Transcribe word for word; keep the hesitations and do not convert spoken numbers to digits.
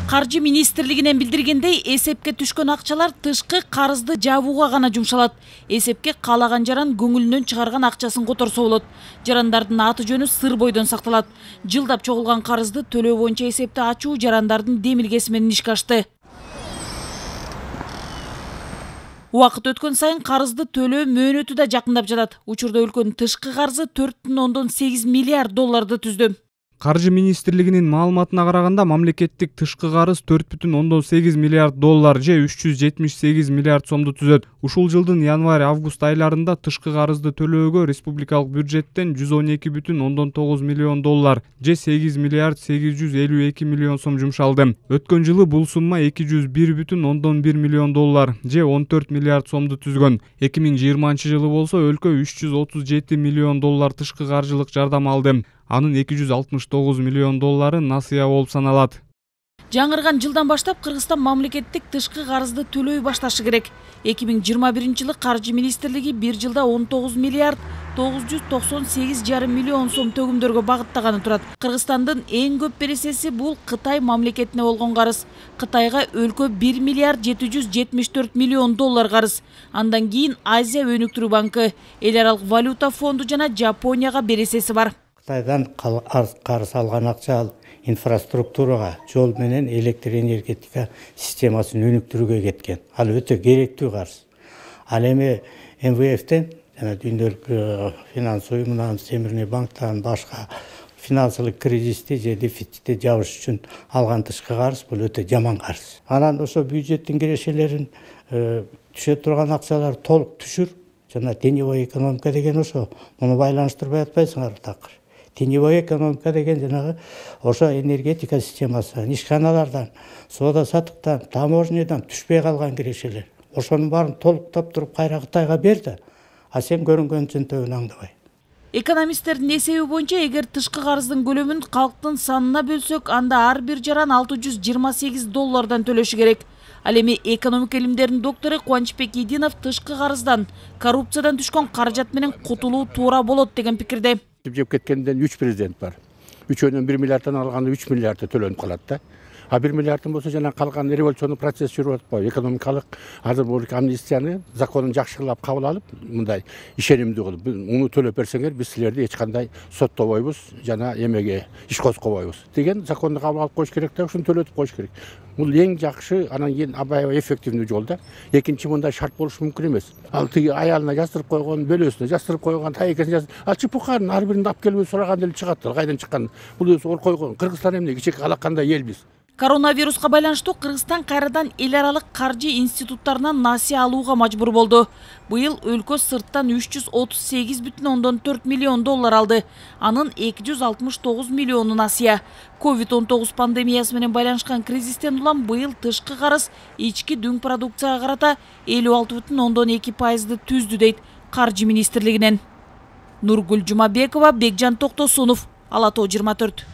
Каржы министрлигинен билдиргендей, эсепке түшкөн акчалар тышкы карызды жабууга гана жумшалат. Эсепке каалаган жаран көңүлүнөн чыгарган акчасын которсо болот. Жарандардын аты жөнү сыр бойдон сакталат. Жылдап чогулган карызды төлөө боюнча эсепти ачуу жарандардын демилгеси менен ишке ашты. Убакыт өткөн сайын карызды төлөө мөөнөтү да жакындап жатат. Учурда өлкөнүн тышкы карызы төрт бүтүн ондон сегиз миллиард долларды түздү. Каржы министрлигинин маалыматына караганда, мамлекеттик тышкы карыз төрт бүтүн ондон сегиз миллиард доллар же үч жүз жетимиш сегиз миллиард сомду түзөт. Ушул жылдын январь-август айларында тышкы карызды төлөөгө республикалык бюджеттен жүз он эки бүтүн ондон тогуз миллион доллар же сегиз миллиард сегиз жүз элүү эки миллион сом жумшалды. Өткөн жылы бул сумма эки жүз бир бүтүн ондон бир миллион доллар же он төрт миллиард сомду түзгөн. эки миң жыйырманчы жылы болсо өлкө үч жүз отуз жети миллион доллар тышкы каржылык жардам алды. Анын эки жүз алтымыш тогуз миллион доллары насыя болуп саналат. Жаңырган жылдан баштап Кыргызстан мамлекеттик тышкы карызды төлөй башташы керек. эки миң жыйырма биринчи жылы Каржы министрлиги бир жылда он тогуз миллиард тогуз жүз токсон сегиз жарым миллион сом төгүмдөргө багыттаганы турат. Кыргызстандын эң көп бересеси бул Кытай мамлекетине болгон карыз. Кытайга өлкө бир миллиард жети жүз жетимиш төрт миллион доллар карыз. Андан кийин Азия өнүктүрүү банкы, Эл аралык валюта фонду жана Жапонияга бересеси бар. Кытайдан карыз алган акча инфраструктурага, жол менен электр энергетика системасын өнүктүрүүгө кеткен. Ал өтө керектүү карыз. Ал эми эм вэ эфтен, жана Дүйнөлүк финанс уюмунан, Темирный банктан башка финансылык кризисти же дефицитти жабыш үчүн алган тышкы карыз бул өтө жаман карыз. Анан ошо бюджеттин кирешелерин түшө турган акчалар толук түшүр. Жана теневой экономика деген ошо, муну байланыштырбай атпайсыңар такыр. Теневой экономика деген жанагы ошо энергетика системасы, ишканалардан, соода саттыктан, таможнядан түшпөй калган кирешелер. Ошонун баарын толуктап туруп кайра Кытайга берди. А сен көрүнгөнчүн төбүн аңдабай. Экономисттердин эсеби боюнча, эгер тышкы карыздын көлөмүн калктын санына бөлсөк, анда ар бир жаран алты жүз жыйырма сегиз доллардан төлөшү керек. Ал эми экономика илимдеринин доктору Кубанычбек Идинов тышкы карыздан, коррупциядан түшкөн каражат менен кутулуу туура болот деген пикирде. Жеп кеткенден үч президент бар. Үчөөнөн бир миллиарддан алганда үч миллиард төлөнүп калат да. А бир миллиарддан болсо жана калган революциондук процесс жүрүп атпайбы? Экономикалык азыр бул амнистияны законун жакшылап кабыл алып, мындай ишенимдүү кылып, муну төлөп берсеңер, биз силерди эч кандай соттобойбуз жана эмеге иш козгобойбуз деген законду кабыл алып коюш керек да, ушуну төлөтүп коюш керек. Бул эң жакшы, анан кийин аябай эффективдүү жол да. Экинчи мындай шарт болушу мүмкүн эмес. Ал тиги аялына жастырып койгон, бөлөсүнө жастырып койгон, тайекесине жастырып, ал чыпыкарын ар бирин алып келип сураган эле чыгат. Кайдан чыккан? Бул ор койгон. Кыргызстан эмне кичек алакандай эл биз. Коронавируска байланыштуу Кыргызстан кайрадан эл аралык каржы институттарынан насыя алууга мажбур болду. Быйыл өлкө сырттан үч жүз отуз сегиз бүтүн ондон төрт миллион доллар алды. Анын эки жүз алтымыш тогуз миллиону насыя. ковид он тогуз пандемиясы менен байланышкан кризистен улам быйыл тышкы карыз ички дүң продукцияга карата элүү алты бүтүн ондон эки пайызды түздү дейт Каржы министрлигинен. Нургүл Жумабекова, Бекжан Токтосунов, Ала Тоо жыйырма төрт.